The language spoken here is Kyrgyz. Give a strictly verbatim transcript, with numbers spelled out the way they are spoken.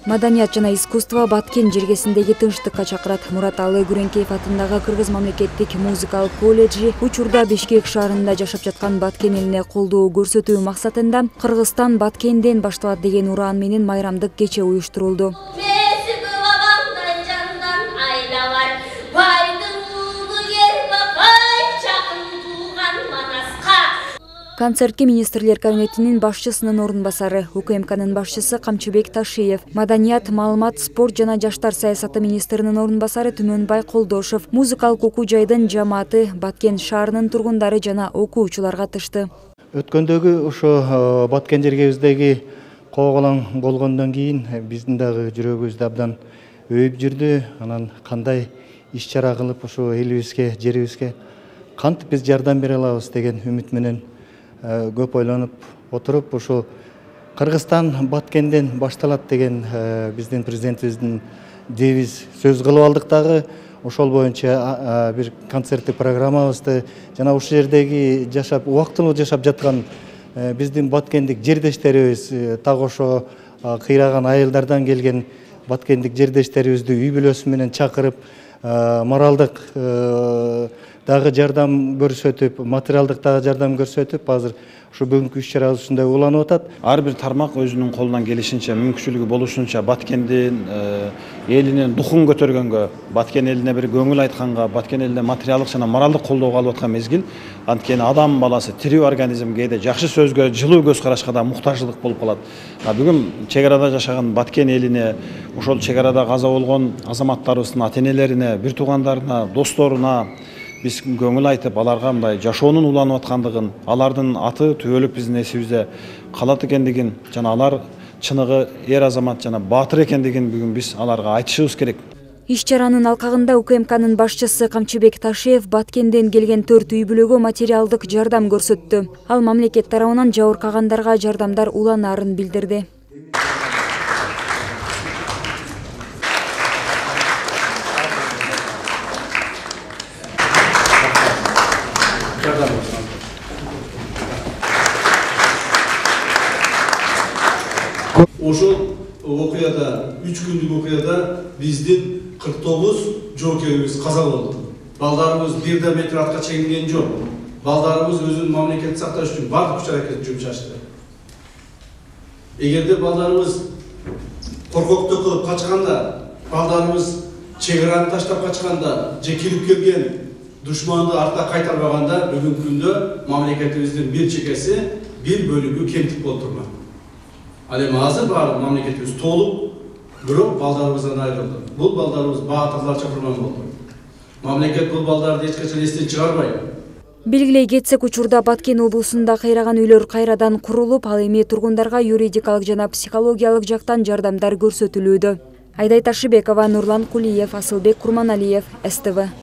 Маданият жана искусство Баткен жергесиндеги тынчтыкка чакырат. Мурат Алы Күреңкеев атындагы Кыргыз мамлекеттик музыкалык колледжи учурда Бишкек шаарында жашап жаткан Баткен элине колдоо көрсөтүү максатында Кыргызстан Баткенден башталат деген ураан менен майрамдык кече уюштурулду. Концертке министрлер кабинетинин башчысынын орун басары, УКМКнын башчысы Камчыбек Ташиев, Маданият, маалымат, спорт жана жаштар саясаты министринин орун басары Түмөнбай Колдошов, музыкалык окуу жайдын жамааты, Баткен шаарынын тургундары жана окуучулар катышты. Өткөндөгү ошо Баткен жергебиздеги кооголоң болгондон кийин биздин дагы жүрөгүбүз абдан өйүп жүрдү. Анан кандай иш чара кылып ошо элибизге, жерибизге кантип биз жардам бере алабыз деген үмүт менен көп ойлонуп отуруп, ошо Кыргызстан Баткенден башталат деген биздин президентибиздин девиз сөз кылып алдык дагы. Ошол боюнча бир концерттик программабызды жана ушул жердеги жашап, убактылуу жашап жаткан биздин баткендик жердештерибиз, так ошо кыйраган айылдардан келген баткендик жердештерибизди үй бүлөсү менен чакырып, моралдык дагы жардам көрсөтүп, материалдык дагы жардам көрсөтүп, азыр ушу бүгүнкү иш чарабыз ушундай уланып атат. Ар бир тармак өзүнүн колунан келишинче, мүмкүнчүлүгү болушунча Баткендин элинин духун көтөргөнгө, Баткен элине бир көңүл айтканга, Баткен элине материалдык жана моралдык колдоого алып аткан мезгил. Анткени адам баласы тирүү организм, кээде жакшы сөзгө, жылуу көз карашка да муктаждык болуп калат. Бүгүн чек арада жашаган Баткен элине, ошол чек арада каза болгон азаматтарыбыздын ата-энелерине, бир туугандарына, досторуна биз көңүл айтып, аларга мындай жашоонун уланып аткандыгын, алардын аты түбөлүк биздин эсибизде калат экендигин жана алар чыныгы эр азамат жана баатыр экендигин бүгүн биз аларга айтышыбыз керек. Иш чаранын алкагында УКМКнын башчысы Камчыбек Ташиев Баткенден келген төрт үй бүлөгө материалдык жардам көрсөттү. Ал мамлекет тарабынан жабыркагандарга жардамдар уланаарын билдирди. Ошол окуяда, үч күндүк окуяда биздин кырк тогуз жоокерибиз каза болду. Балдарыбыз бир да метр артка чегинген жок. Балдарыбыз өзүнүн мамлекетти сакташ үчүн бардык күч аракетин жумшашты. Эгерде балдарыбыз коркоктук кылып качканда, балдарыбыз чек араны таштап качканда, же кирип келген душманды артка кайтарбаганда, бүгүнкү күндө мамлекетибиздин бир чекеси, бир бөлүгү кемтик болуп турмак. Ал эми азыр баары мамлекетибиз толук, бирок балдарыбыздан айрылды. Бул балдарыбыз баатырларча курман болду. Мамлекет бул балдарды эч качан эстен чыгарбайт. Белгилей кетсек, учурда Баткен облусунда кыйраган үйлөр кайрадан курулуп, ал эми тургундарга юридикалык жана психологиялык жактан жардамдар көрсөтүлүүдө. Айдай Ташыбекова, Нурлан Кулиев, Асылбек Курманалиев, СТВ.